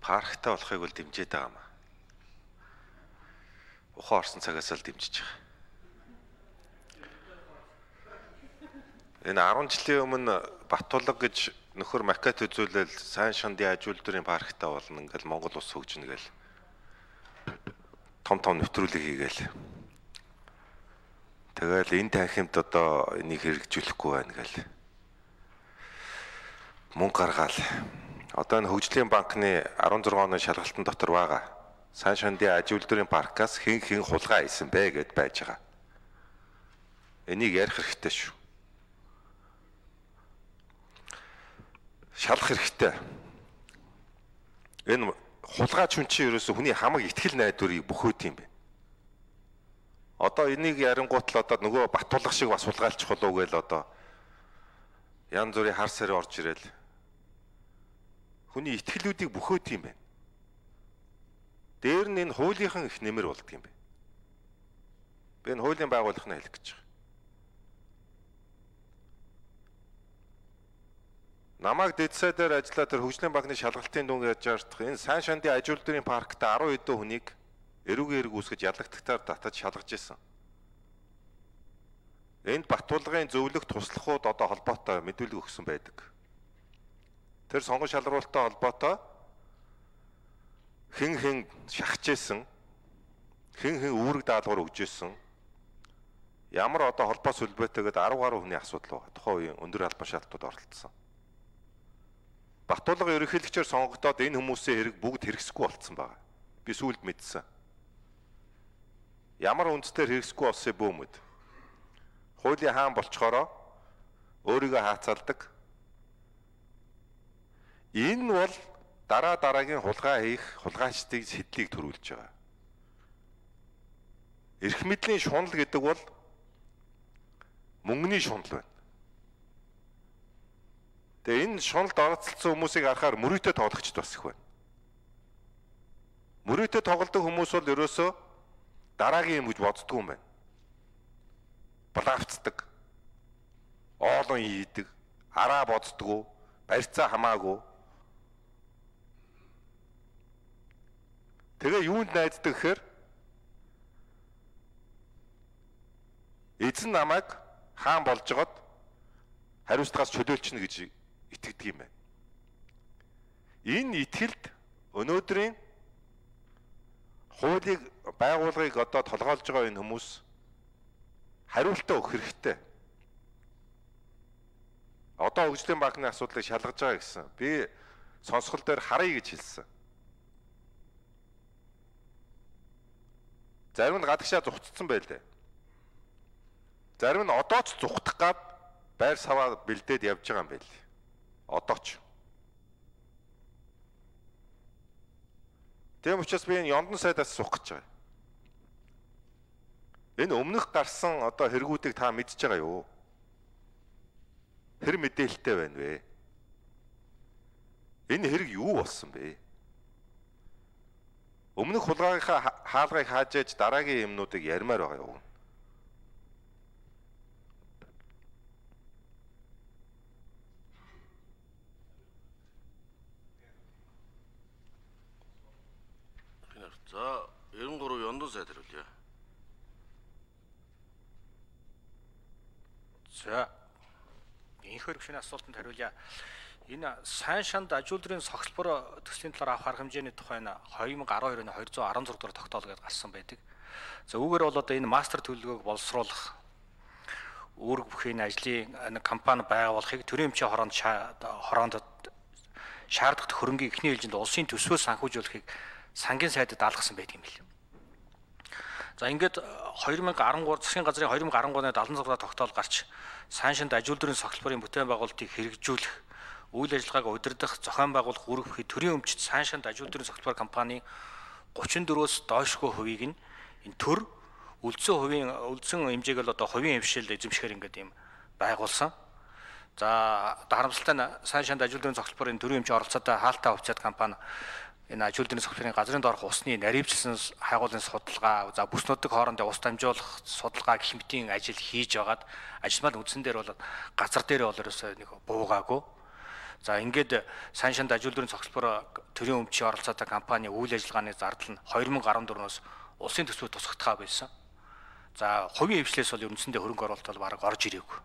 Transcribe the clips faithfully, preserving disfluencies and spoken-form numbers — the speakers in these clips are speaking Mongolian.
парктай болохыг бол дэмжиж байгаа юм. Ухаан орсон цагаас л дэмжиж байгаа. Энэ арван жилийн өмнө Баттулга гэж нөхөр макет үзүүлэл сайн шандын аж үйлдвэрийн парктай болно ингээл Монгол улс хөгжинэ гэл том том нэвтрүүлэг хийгээл. Тэгэл энэ танхимд одоо энийг хэрэгжүүлэхгүй байна гэл. Мөнгө гаргаал. Одоо энэ хөгжлийн банкны арван зургаан оны шалгалтын дотор байгаа. Сайн шандын аж үйлдвэрийн паркаас хэн хэн хулгай хийсэн бэ гэд байж байгаа. Энийг ярих хэрэгтэй шүү. Шалах хэрэгтэй. Энэ хулгайч хүн чинь ерөөсө хүний хамаг итгэл найдварыг бөхөөд юм бэ. Одоо энийг ярингуут л одоо нөгөө Баттулга шиг бас хулгайлчих болов гээл одоо янз бүрийн хар сар орж ирэл. Хүний итгэлүүдийг бөхөөд юм байна. Дээр нь энэ хуулийнхан их нэмэр болдго юм бэ. Би энэ хуулийн байгууллагын хэлэх гэж байна. Намайг дэдсай дээр ажиллаа тэр хөгжлийн банкны шалгалтын дүнг яаж яардах энэ сайн шандын аж үйлдвэрийн паркт арван хэдэн хүнийг эрүүгийн эрг үүсгэж ялагтагтаар татаж шалгаж исэн. Энд Баттулгын зөвлөх туслахууд одоо холбоотой мэдүүлэг өгсөн байдаг. Тэр сонгон шалруулалттай холбоотой хэн хэн шахаж исэн, хэн хэн үүрэг даалгавар өгж исэн, ямар одоо холбоо сүлбэтэйгээд арав гаруй хүний асуудал байна. Тухайн үеийн өндөр албан шаардлагууд оролцсон. Баттулга ерөнхийлөгчөөр сонгогдоод энэ хүмүүсийн хэрэг бүгд хэрэгсэхгүй болцсон байна. Би сүүлд мэдсэн. Ямар үндсээр хэрэгсэхгүй болсон бөөмөд. Хуулийн хаан болчхороо өөрийгөө хаацалдаг. Энэ бол дараа дараагийн хулгай хийх хулгайчдын сэтлийг төрүүлж байгаа. Эрх мэдлийн шунал гэдэг бол мөнгөний шунал байна. Тэгээ энэ шуналд оролцсон хүмүүсийг харахаар мөрөөдөө тоглогчд бас их байна. Мөрөөдөө тоглодог хүмүүс бол ерөөсөө дараагийн юм гэж боддгоо юм байна. Балавцдаг, оолон ийдэг, араа боддгоо, барьцаа хамаагүй. Тэгээ юунд найддаг гэхээр эзэн намайг хаан болж жогод хариуцлагаас чөлөөлчихнө гэж итгэдэг юм байна. Энэ итгэлд өнөөдрийн хуулийг байгууллагыг одоо толгойлж байгаа энэ хүмүүс хариултаа өгөх хэрэгтэй. Одоо хөгжлийн банкны асуудлыг шалгаж байгаа гэсэн. Би сонсгол дээр харъя гэж хэлсэн. Зарим нь гадагшаа зүгтцсэн байлээ. Зарим нь одоо ч зүгтах гад байр саваа бэлдээд явж байгаа юм байл. Одоо ч. Тэм учраас би энэ Ёндон сайдаас суух гэж байгаа. Энэ өмнөх гарсан одоо хэрэгүүдийг та мэдж байгаа юу? Хэр мэдээлэлтэй байна вэ? Энэ хэрэг юу болсон бэ? Өмнөх хулгайгийнхаа хаалгыг хааж ээж дараагийн юмнуудыг ярмаар байгаа юу? За, девяносто три Ёндон сайд хариулъя. За, энэ хөрөгшний асуултанд хариулъя. Энэ сайн шанд аж үйлдвэрийн согтолбор төслийн талаар авах арга хэмжээний тухай нь две тысячи twelve оны two hundred sixteen дугаар тогтоол гэж гарсан байдаг. За үүгээр бол одоо энэ мастер төлөвлөгөөг боловсруулах үүрэг бүхий ажлын компани байгуулахыг төрийн эмчийн хороонд хороонд шаардлагатай хөрөнгийн эхний ээлжинд улсын төсвөөс санхүүжүүлэхийг сангийн сайдад даалгасан байдаг юм билээ. За ингээд two thousand thirteen засгийн газрын two thousand thirteen оны seventy-six дугаар тогтоол гарч сайн шанд аж үйлдвэрийн согтолборын бүтээн байгуулалтыг хэрэгжүүлэх, үйл ажиллагааг удирдах, зохион байгуулах үүрэг бүхий төрийн өмчт сайн шанд аж үйлдвэрийн согтолбор компани thirty-four-өөс доошгүй хувийг нь энэ төр үлдсэн хувийн үлдсэн хэмжээг л одоо хувийн хвшил эзэмшихээр ингээд юм байгуулсан. За харамсалтай нь сайн шанд аж үйлдвэрийн согтолборын төрийн эмчийн оролцоотой хаалтаа хувьцаат компани энэ аж үйлдвэрийн согтолборын газрын доорх усны наривчлсан хайгуулын судалгаа, за бүснүүдийн хоорондын ус дамжуулах судалгаа гэх мэтийн ажил хийж байгаад ажилмал үндсэн дээр бол газар дээр бол ерөөсөө нэг буугаагүй. За ингээд сайн шанд ажилтны цогцлбор төрийн өмчийн оролцоотой компани үйл ажиллагааны зардал нь две тысячи дөрвөн оноос улсын төсвөд тусгахтаа байсан. За хувийн хвшлээс бол ерөнхийдөө хөрөнгө оруулалт бол бараг орж ирээгүй.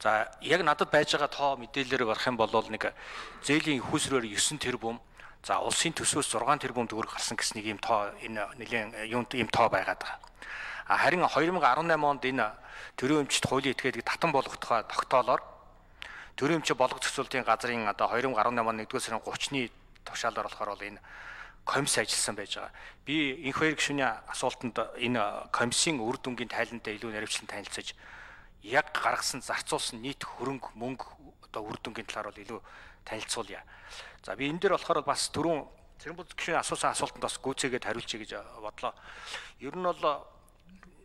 За яг надад байж байгаа тоо мэдээлэлээр гарах юм бол нэг зээлийн ихүүсрээр нine тэрбум, за улсын төсвөөс six тэрбум төгрөг гарсан гэсэн нэг юм тоо энэ нэлийн юм ийм тоо байгаад байгаа. А харин две тысячи десeight онд энэ төрийн өмчт хуулийн этгээдийг татан болгохтой тогтоолоор төрийн өмчийн болгох зохицуулалтын газрын одоо две тысячи десeight он нэгдүгээр сарын thirty-ны тушаалаар болохоор бол энэ комисс ажилласан байж байгаа. Би энх хоёр гишүүний асуултанд энэ комиссийн үр дүнгийн тайлантай илүү наривчлан танилцаж яг гаргасан зарцуулсан нийт хөрөнгө мөнгө одоо үр дүнгийн талаар бол илүү танилцуулъя. За би энэ дээр болохоор бас түрүүн Цэрэнбул гишүүний асуусан асуултанд бас гүйцээгээд хариулчих гэж бодлоо. Ер нь бол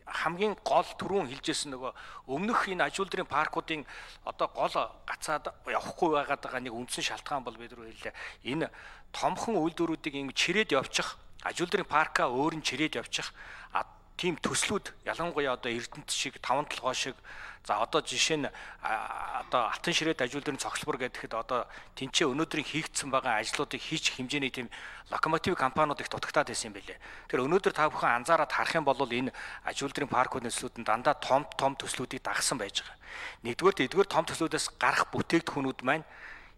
хамгийн гол түрүүн хэлжсэн нөгөө өмнөх энэ аж үйлдвэрийн паркуудын одоо гол гацаад явахгүй байгаад байгаа нэг үндсэн шалтгаан бол бид рүү хэллээ. Энэ томхон үйлдвэрүүдийг ингэ чирээд явчих, аж үйлдвэрийн парка өөр нь чирээд явчих тийм төслүүд ялангуяа одоо Эрдэнэт шиг таван толгой шиг за одоо жишээ нь одоо Алтан ширээд аж үйлдвэрийн цогцлбор гэхэд одоо тэнцээ өнөөдрийн хийгдсэн байгаа ажлуудыг хийчих хэмжээний тийм локомотив компаниуд их дутагтаад байсан юм байлээ. Тэгэхээр өнөөдөр та бүхэн анзаараад харах юм бол энэ аж үйлдвэрийн паркуудын төслүүд нь дандаа том том төслүүдийг дагсан байж байгаа. Нэгдүгээр эдгээр том төслүүдээс гарах бүтээгдэхүүнүүд маань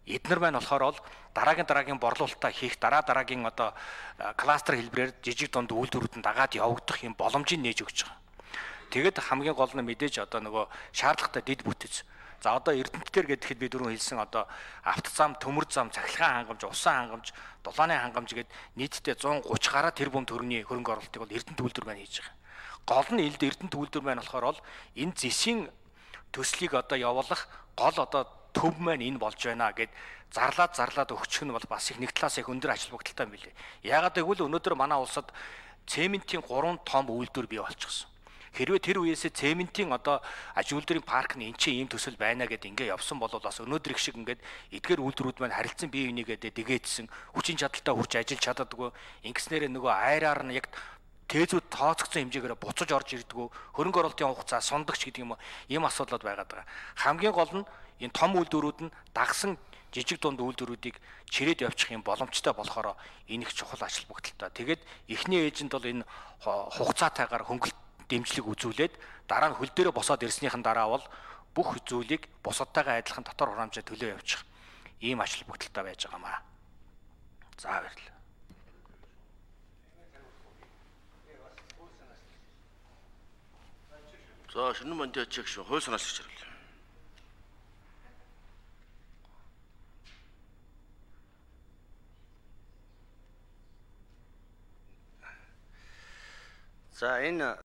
эднэр маань болохоор бол дараагийн дараагийн борлуулалтаа хийх дараа дараагийн одоо кластер хэлбэрээр жижиг дунд үйлдвэрүүд нь дагаад явагдах юм боломжийг нээж өгч байгаа. Тэгэд хамгийн гол нь мэдээж одоо нөгөө шаардлагатай дэд бүтэц. За одоо Эрдэнэт дээр гэхэд би дөрөв хэлсэн одоо автозам, төмөр зам, цахилгаан хангамж, усан хангамж, дулааны хангамж гээд нийтдээ one thirty гаруй тэрбум төгрөгийн хөрөнгө оруулалтыг бол Эрдэнэт үйлдвэр маань хийж байгаа. Гол нь элд Эрдэнэт үйлдвэр маань болохоор бол энэ зэсийн төслийг одоо явуулах гол одоо төв маань энэ болж байна гэд зарлаад зарлаад өгчих нь бол бас их нэг талаас их өндөр ажил бүгдэлтэй юм билээ. Яагаад гэвэл өнөөдөр манай улсад цементийн гурван том үйлдвэр бий болчихсон. Хэрвээ тэр үеэсээ цементийн одоо аж үйлдвэрийн парк нь энэ чинь ийм төсөл байна гэд ингээ явсан бол бас өнөөдөр их шиг ингээд эдгээр үйлдвэрүүд маань харилцан бие бинийгээ дэгээдсэн хүчин чадалтай хүрч ажиллаж чаддаггүй ингэснээр нөгөө айраар нь яг тээзүүд тооцогдсон хэмжээгээр буцаж орж ирдэггүй хөрөнгө оруулалтын хугацаа сундагч гэдэг юм уу ийм асуудлууд байгаад байгаа. Хамгийн гол нь энэ том үйлдвэрүүд нь дагсан жижиг дунд үйлдвэрүүдийг чирээд явуучих юм боломжтой болохоор энэ их чухал ажил бүгдэлтэй. Тэгээд эхний ээжинд бол энэ хугацаатайгаар хөнгөлөлт дэмжлэг үзүүлээд дараа нь хөл дээрээ босоод ирснийхэн дараа бол бүх зүйлийг бусадтайгаа адилхан дотор хураамжаа төлөө явуучих ийм ажил бүгдэлтэй байж байгаамаа. За баярлалаа. За шинэ мандат чиг шүү. Хууль санаас гэж хариулъя. За энэ